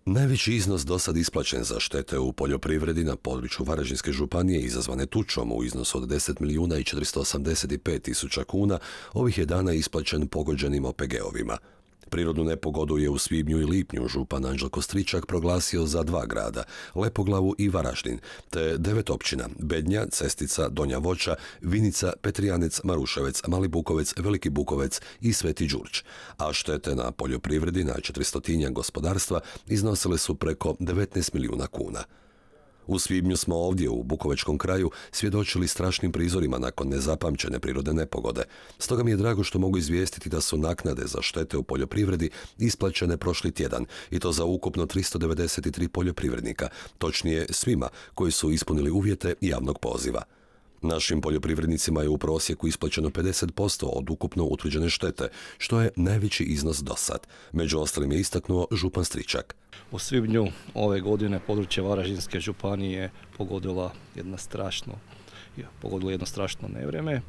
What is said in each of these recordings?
Najveći iznos do sad isplaćen za štete u poljoprivredi na području Varaždinske županije izazvane tučom u iznosu od 10 milijuna i 485 tisuća kuna ovih je dana isplaćen pogođenim OPG-ovima. Prirodnu nepogodu je u svibnju i lipnju župan Anđelko Stričak proglasio za 2 grada, Lepoglavu i Varaždin, te 9 općina, Bednja, Cestica, Donja Voća, Vinica, Petrijanec, Maruševec, Mali Bukovec, Veliki Bukovec i Sveti Đurđ, a štete na poljoprivredi na 400 gospodarstva iznosile su preko 19 milijuna kuna. U svibnju smo ovdje u Bukovačkom kraju svjedočili strašnim prizorima nakon nezapamćene prirodne nepogode. Stoga mi je drago što mogu izvijestiti da su naknade za štete u poljoprivredi isplaćene prošli tjedan i to za ukupno 393 poljoprivrednika, točnije svima koji su ispunili uvjete javnog poziva. Našim poljoprivrednicima je u prosjeku isplaćeno 50% od ukupno utvrđene štete, što je najveći iznos do sad. Među ostalim je istaknuo župan Stričak. U svibnju ove godine područje Varaždinske županije pogodilo jedno strašno nevrijeme.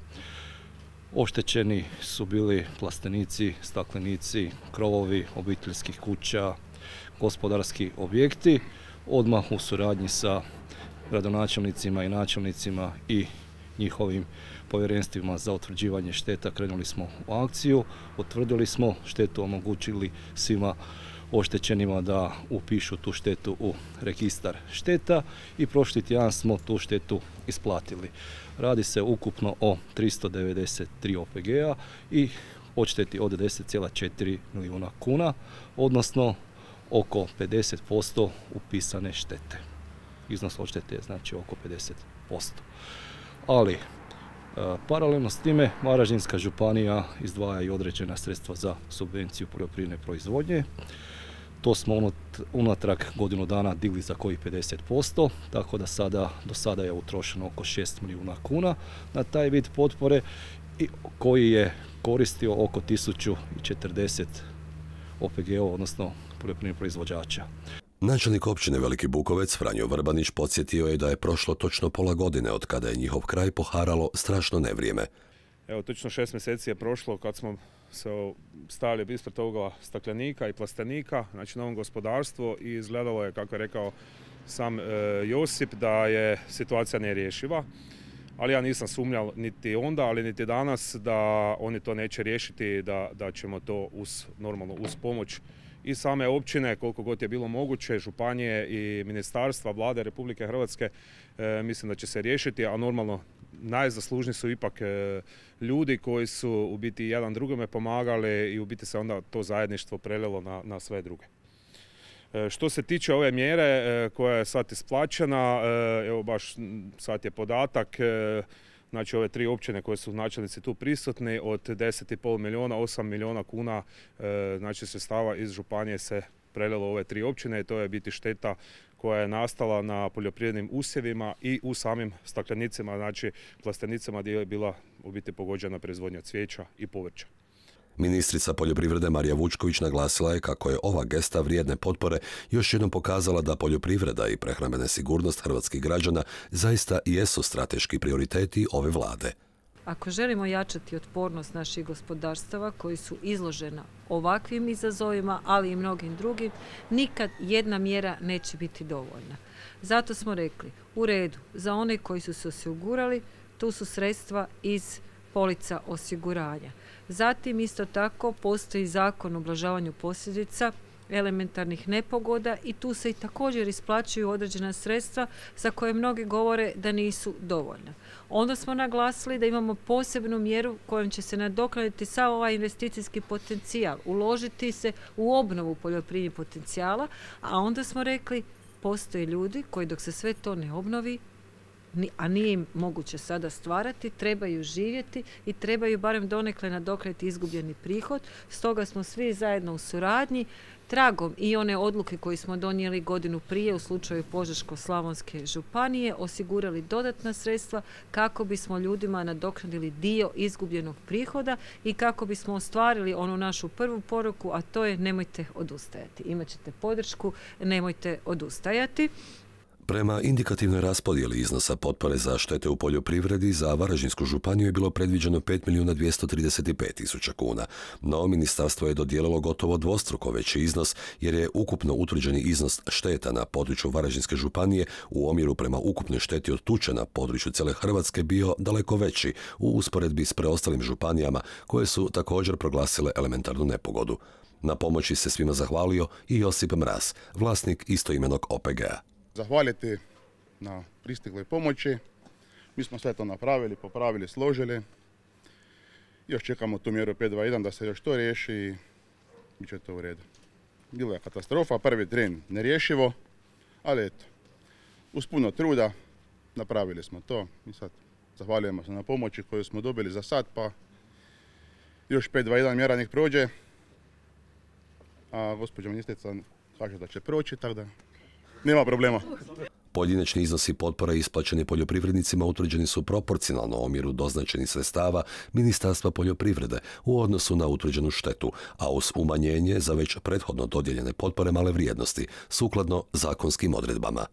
Oštećeni su bili plastenici, staklenici, krovovi obiteljskih kuća, gospodarski objekti. Odmah u suradnji sa gradonačelnicima i načelnicima i njihovim povjerenstvima za utvrđivanje šteta krenuli smo u akciju, utvrdili smo štetu, omogućili svima oštećenima da upišu tu štetu u registar šteta i prošli tjedan smo tu štetu isplatili. Radi se ukupno o 393 OPG-a i odšteti od 10,4 milijuna kuna, odnosno oko 50% upisane štete. Iznos odštete je znači oko 50%. Ali, paralelno s time, Varaždinska županija izdvaja i određena sredstva za subvenciju poljoprivredne proizvodnje. To smo unatrag godinu dana digli za kojih 50%, tako da do sada je utrošeno oko 6 milijuna kuna na taj vid potpore i koji je koristio oko 1040 OPG-ova, odnosno poljoprivrednih proizvođača. Načelnik općine Veliki Bukovec Franjo Vrbanić podsjetio je da je prošlo točno pola godine od kada je njihov kraj poharalo strašno nevrijeme. Evo, točno 6 mjeseci je prošlo kad smo se stavili ispred toga staklenika i plastenika, znači novom gospodarstvu, i izgledalo je, kako je rekao sam Josip, da je situacija nerješiva. Ali ja nisam sumnjal niti onda, ali niti danas da oni to neće riješiti, da ćemo to normalno uz pomoć i same općine, koliko god je bilo moguće, županije i ministarstva, vlade Republike Hrvatske, mislim da će se riješiti, a normalno najzaslužniji su ipak ljudi koji su u biti jedan drugome pomagali i u biti se onda to zajedništvo prelilo na sve druge. Što se tiče ove mjere koja je sad isplaćena, evo baš sad je podatak, znači ove 3 općine koje su načelnici tu prisutni, od 10,5 milijuna, 8 milijuna kuna znači sredstava iz županije se prelilo ove 3 općine i to je biti šteta koja je nastala na poljoprivrednim usjevima i u samim staklenicima, znači plastenicama gdje je bila u biti pogođena proizvodnja cvijeća i povrća. Ministrica poljoprivrede Marija Vučković naglasila je kako je ova gesta vrijedne potpore još jednom pokazala da poljoprivreda i prehrambena sigurnost hrvatskih građana zaista jesu strateški prioriteti ove vlade. Ako želimo jačati otpornost naših gospodarstava koji su izložena ovakvim izazovima, ali i mnogim drugim, nikad jedna mjera neće biti dovoljna. Zato smo rekli, u redu, za one koji su se osigurali, tu su sredstva iz polica osiguranja. Zatim isto tako postoji Zakon o ublažavanju posljedica elementarnih nepogoda i tu se i također isplaćuju određena sredstva za koje mnogi govore da nisu dovoljna. Onda smo naglasili da imamo posebnu mjeru kojom će se nadoknaditi sav ovaj investicijski potencijal, uložiti se u obnovu poljoprivrednih potencijala, a onda smo rekli postoje ljudi koji dok se sve to ne obnovi, a nije im moguće sada stvarati, trebaju živjeti i trebaju barem donekle nadoknaditi izgubljeni prihod. Stoga smo svi zajedno u suradnji, tragom i one odluke koje smo donijeli godinu prije u slučaju Požeško-slavonske županije, osigurali dodatna sredstva kako bismo ljudima nadoknadili dio izgubljenog prihoda i kako bismo ostvarili onu našu prvu poruku, a to je nemojte odustajati. Imaćete podršku, nemojte odustajati. Prema indikativnoj raspodjeli iznosa potpore za štete u poljoprivredi za Varaždinsku županiju je bilo predviđeno 5.235.000 kuna, no ministarstvo je dodijelilo gotovo dvostruko veći iznos jer je ukupno utvrđeni iznos šteta na području Varaždinske županije u omjeru prema ukupnoj šteti od tuče na području cijele Hrvatske bio daleko veći u usporedbi s preostalim županijama koje su također proglasile elementarnu nepogodu. Na pomoći se svima zahvalio i Josip Mraz, vlasnik istoimenog OPG-a. Zahvaliti na pristigloj pomoći. Mi smo sve to napravili, popravili, složili. Još čekamo tu mjeru 5.2.1 da se još to riješi i bit će to u redu. Bila je katastrofa, prvi tren nerješivo, ali eto, uz puno truda napravili smo to i sad zahvaljujemo se na pomoći koju smo dobili za sad, pa još 5.2.1 mjera nek prođe, a gospođa ministrica kaže da će proći, tako da nema problema. Pojedinačni iznosi potpora isplaćeni poljoprivrednicima utvrđeni su proporcionalno omjeru doznačenih sredstava Ministarstva poljoprivrede u odnosu na utvrđenu štetu, a uz umanjenje za već prethodno dodijeljene potpore male vrijednosti, sukladno zakonskim odredbama.